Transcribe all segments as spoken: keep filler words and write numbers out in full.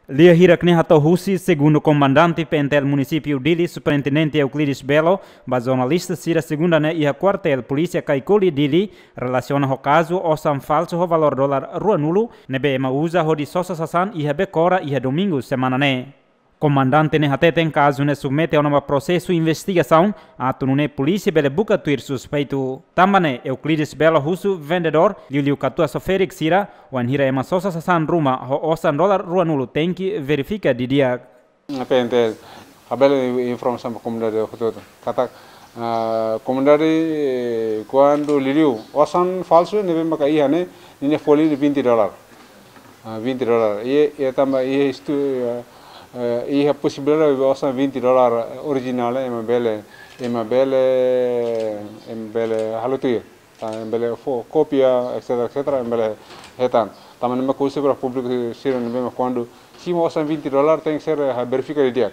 Lia hirak ne'e hato'o husi segundu komandante P N T L Munisípiu Dili, Superintendente Euclides Belo, ba jornalista sira segunda ne'e iha kuartél polísia Kaikoli, Dili, relasiona ho kazu osan falsu ho valór dolar ruanulu ne'ebé ema uza hodi sosa sasán iha Bekora iha domingu semana ne'e. Komandante ne'e hateten kazu ne'e submete ona ba prosesu investigasaun, atu nune'e polísia bele buka tuir suspeitu. Tanba ne'e Euclides Belo husu vendedór, liuliu katuas ho ferik sira, wainhira ema sosa sasán ruma ho osan dolar ruanulu tenke verifika didi'ak. P N T L, labele informa ba komunidade hotu-hotu. Katak, ah, komunidade, eh, kuandu liuliu osan falsu ne'ebé maka iha ne'e, ninia folin vinte dolar. Ah, vinte dolar. I, i tanba iha estu, eh, eh, iha posibilidade osan vinte dolar orijinál, ema bele, ema bele, ema bele halo tuir. Ah, ema bele fó kópia, et cetera, et cetera, ema bele hetan. Tanba ne'e mak husu ba públiku sira ne'ebé mak kuandu simu osan vinte dolar tenke ser, ah, verifika didi'ak.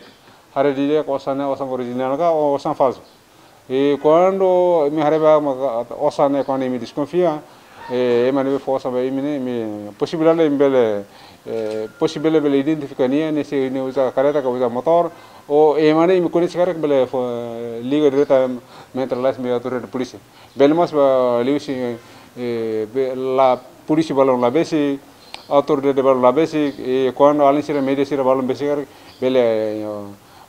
Haree didi'ak osan ne'e osan orijinál ka ou osan falsu. I kuandu imi haree ba maka osan ne'e kuandu imi deskonfia, eh, ema ne'ebé fó osan ba imi ne'e, imi posibilidade imi bele, eh, posibilidade bele identifika nia, ne'e se nia uza karreta ka uza motór, ou ema ne'e imi koñese karik bele fó, eh, liga diretamente lalais mai autoridade polísia. Bele mós ba liuhusi, eh, be-, la polísia balun la besik, autoridade balun la besik, i kuandu alin sira, mídia sira balun besik karik bele, eh,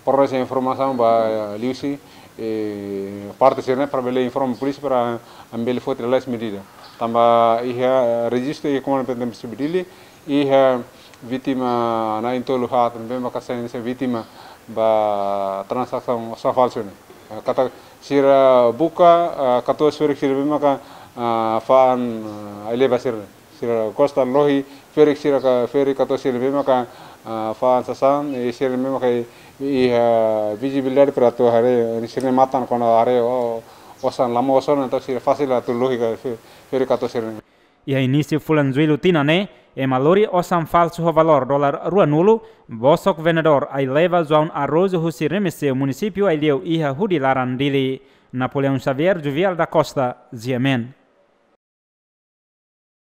fornese informasaun ba, eh, liuhusi, eh, parte sira-ne'e para bele informa polísia para ami bele foti lalais medida. Tanba iha, eh, rejistu iha Komandu P N T L Munisípiu Dili, iha vítima na'in-tolu haat ne'ebé maka sai hanesan vítima ba transasaun osan falsu ne'e. Eh, katak sira buka, eh, katuas ferik sira ne'ebé maka, eh, fa'an, eh, ai-leba sira. Sira gosta lohi ferik sira ka, ferik katuas sira ne'ebé maka, ah, fa'an sasán, i sira ne'ebé maka i, i, ah, vizibilidade para atu haree, sira-nia matan kuandu haree, o, osan la moos ona, entaun sira fasil atu lohi ka fe-, ferik katuas sira ne'e. Iha inísiu fulan Jullu tinan ne'e, ema lori osan falsu ho valór dolar ruanulu, bosok vendedór ai-leba João Araújo husi Remexeu, munisípiu Aileu iha Hudi Laran, Dili. Napoleão Xavier, Juvial da Costa, G M N.